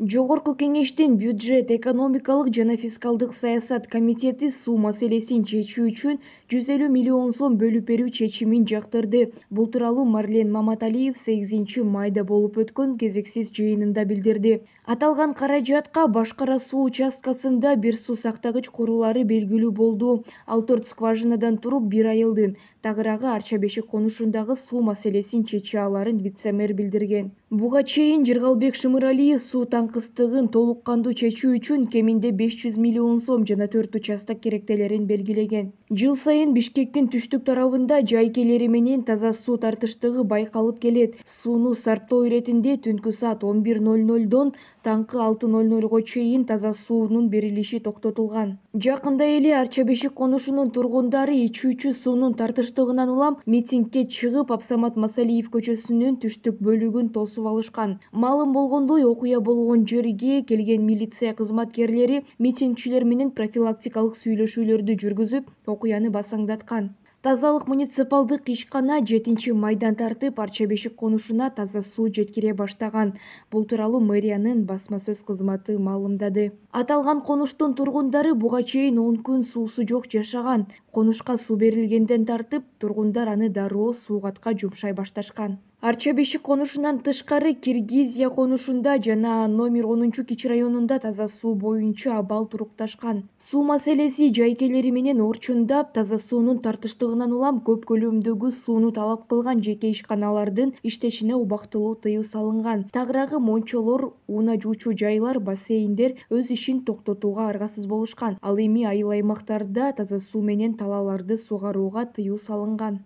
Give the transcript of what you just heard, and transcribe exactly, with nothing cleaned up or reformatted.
Жогорку Кеңештин бюджет, экономикалык жана фискалдык саясат комитети суу маселесин чечүү үчүн жүз элүү миллион сом бөлүп берүү чечимин жактырды. Бул тууралуу Марлен Маматалиев сегизинчи майда болуп өткөн кезексиз жыйынында билдирди. Аталган каражатка Башкара суу участкасында бир суу сактагыч куруулары белгилүү болду. Ал төрт скважинадан туруп бир айылдын, тагыраагы Арча бешик конушундагы суу маселесин чече аларын вице-мэр билдирген. Буга чейин Жыргалбек Шымыралиев суу таңкыстыгын толук кандуу чечүү үчүн кеминде беш жүз миллион сом жана төрт участок керектелерин белгилеген. Жыл сайын Бишкектин түштүк тарабында жайкелери менен таза суу тартыштыгы байкалып келет. Сууну сарптоо иретинде түнкү саат он бир ноль нольдон таңкы алты ноль нольго чейин таза суунун берилиши токтотулган. Жакында эле Арча бешик конушунун тургундары ичүүчү суунун тартыштыгынан улам митингге чыгып, Абсамат Масалиев көчөсүнүн түштүк бөлүгүн тосуп алышкан. Маалым болгондой, окуя болгон жерге келген милиция кызматкерлери митингчилер менен профилактикалык сүйлөшүүлөрдү жүргүзүп, окуяны басаңдаткан. Тазалык муниципалдык ишкана жетинчи майдан тартып Арча бешик конушуна таза суу жеткире баштаган. Бул тууралуу мэриянын басма сөз кызматы маалымдады. Аталган конуштун тургундары буга чейин он күн суусу жок жашаган. Конушка суу берилгенден тартып, тургундар аны дароо суугатка жумшай башташкан. Арча бешик конушунан тышкары Киргизия конушунда жана номер онунчу кичи районунда таза суу боюнча абал турукташкан. Суу маселеси жайкелери менен орчундап, таза суунун тартыштыгынан улам көп көлөмдөгү сууну талап кылган жеке ишканалардын иштешине убактылуу тыюу салынган. Тагыраагы мончолор, унаа жуучу жайлар, бассейндер өз ишин токтотууга аргасыз болушкан. Ал эми айыл аймактарда таза суу менен талааларды сугарууга тыюу салынган.